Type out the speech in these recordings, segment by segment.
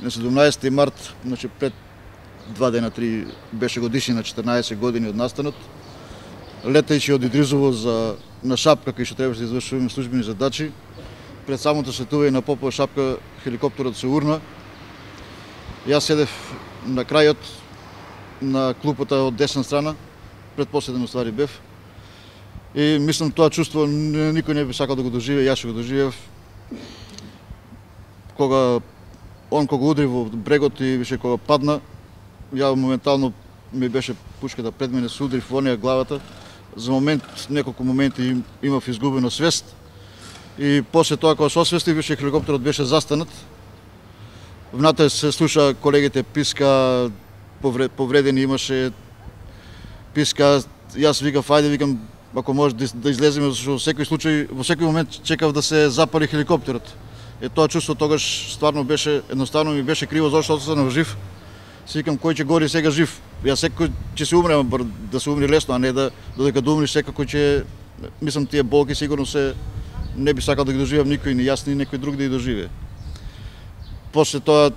На 17 март, значи пред 2 дена, 3 беше годишни на 14 години од настанот. Летајќи од Идризово на Шапка, кај што требаше да извршуваме службени задачи, пред самото слетување на Попова Шапка хеликоптерот се урна. Јас седев на крајот на клупата од десна страна, предпоследен уствари бев. И мислам тоа чувство никој не би сакал да го доживее, јас што го доживеав. Кога удри во брегот и више кога падна, ја моментално ми беше пушката пред мене, се удри во неја главата. За момент, неколку моменти имав изгубено свест. И после тоа кога се освестив, више хеликоптерот беше застанат. Внатре се слуша колегите писка, повредени имаше, писка. Јас викав, ајде, викам, ако може да излеземе, зашто во секој случај, во секој момент чекав да се запали хеликоптерот. Тоа чувство тогаш стварно беше, едноставно ми беше криво зашто останав жив. Си викам, кој ќе гори сега жив? Јас секој ќе се умре, да се умре лесно, а не додека да умреш секако ќе, мислам, тие болки сигурно се не би сакал да ги доживеам никој, ни јас, ни некој друг да ги доживее. После тоа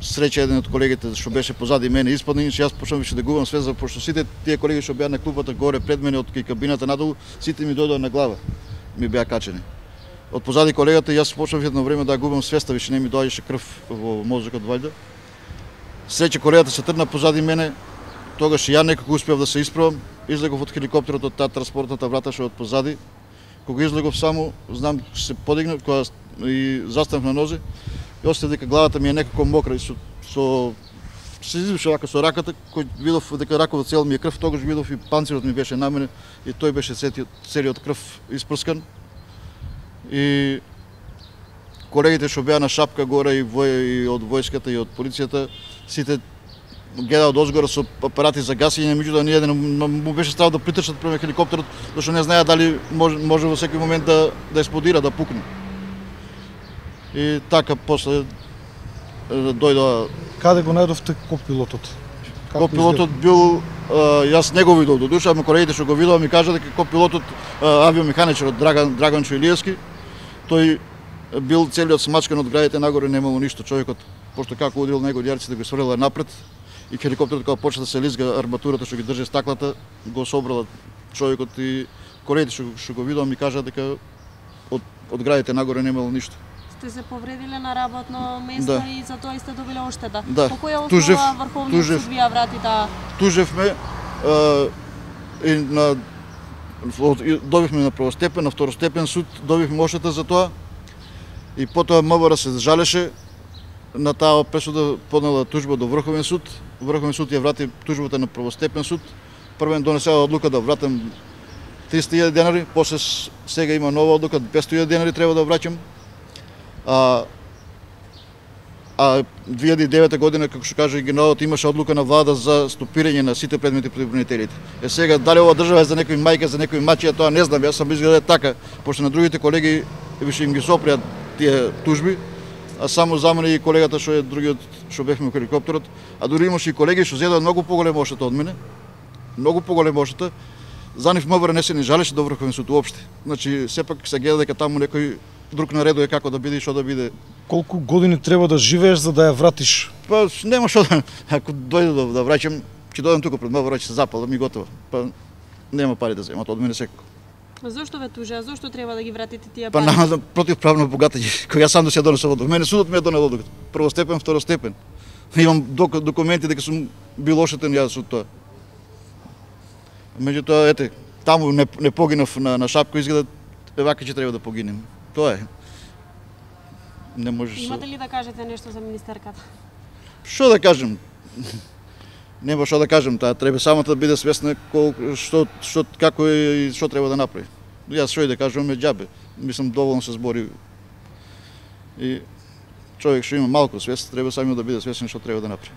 среќа еден од колегите што беше позади мене испадна, иначе јас почнав више да губам свест, пошто сите тие колеги што беа на клупата горе пред мене од кај кабината надолу, сите ми дојдоа на глава, ми беа качени. Од позади колегата јас почнав едно време да губам свеста, више не ми доаѓаше крв во мозокот вајда. Среќа колегата се тргна позади мене, тогаш ја некако успеав да се исправам, излегов од хеликоптерот од таа транспортната врата што од позади. Кога излегов само, знам се подигнав, кога и застанав на нозе, и осетив дека главата ми е некако мокра и се извише вака со раката, кој видов дека раковот цел ми е крв, тогаш видов и панцирот ми беше на мене и тој беше целиот крв испрскан. И колегите што беа на Шапка горе и од војската и од полицијата, сите гледаат одозгора со апарати за гасење, меѓутоа ни еден му беше страв да притрчат према хеликоптерот, зашто не знаеа дали може во секој момент да експлодира, да пукне. И така после дојдоа. Каде го најдовте копилотот? Копилотот бил, јас не го видов до душа, ама колегите што го видоа ми кажа дека копилотот, авиомеханичарот Драган Чуилиевски, тој бил целиот смачкан од градите нагоре, немало ништо. Човекот, пошто како удрил него ѓерците, го свреле напред и хеликоптерот кога почна да се лизга арматурата што ги држи стаклата, го собрала човекот и колегите што го видоа ми кажа дека од градите нагоре немало ништо. Сте се повредиле на работно место, да, и за тоа сте добиле оштета. Да. По која основа Врховниот суд ви ја врати таа? Тужевме добивме на првостепен, на второстепен суд, добивме оштета за тоа. И потоа МВР се жалеше на таа пресуда, поднела тужба до Врховен суд. Врховен суд ја врати тужбата на првостепен суд. Првен донесела одлука да вратам 300.000 денари, после сега има нова одлука, 500.000 денари треба да враќам. А 2009 година, како што кажа и генералот, имаше одлука на влада за стопирање на сите предмети против бронителите. Сега дали ова држава е за некој мајка, за некој мачија, тоа не знам, јас сам изгледа така, пошто на другите колеги више им ги сопреат тие тужби, а само за мене и колегата што е другиот што бевме во хеликоптерот, а дури имаше и колеги што зедоа многу поголема оштета од мене, многу поголема оштета. За нив МВР не се ни жалеше до Врховен суд уопште. Значи сепак се гледа дека таму некој друг наредува како да биде и што да биде. Колку години треба да живееш за да ја вратиш? Па нема што да, ако дојде да враќам, ќе дојдам тука пред МВР, ќе се запалам и готово. Па нема пари да земат од мене секако. Зошто ве тужа? Зошто треба да ги вратите тие пари? Па нема противправно богатење, кој јас сам да се донесов одлука. Мене судот ми е донел одлука. Првостепен, второстепен. Имам документи дека сум бил оштетен јас од тоа. Меѓутоа, ете, таму не погинав на Шапко, изгледа вака ќе треба да погинем. Тоа е. Не можеш. Имате ли да кажете нешто за министерката? Што да кажем? Нема што да кажем, таа треба само да биде свесна како и што треба да направи. Јас што и да кажам е џабе. Мислам доволно се збори. И човек што има малку свест, треба само да биде свесен што треба да направи.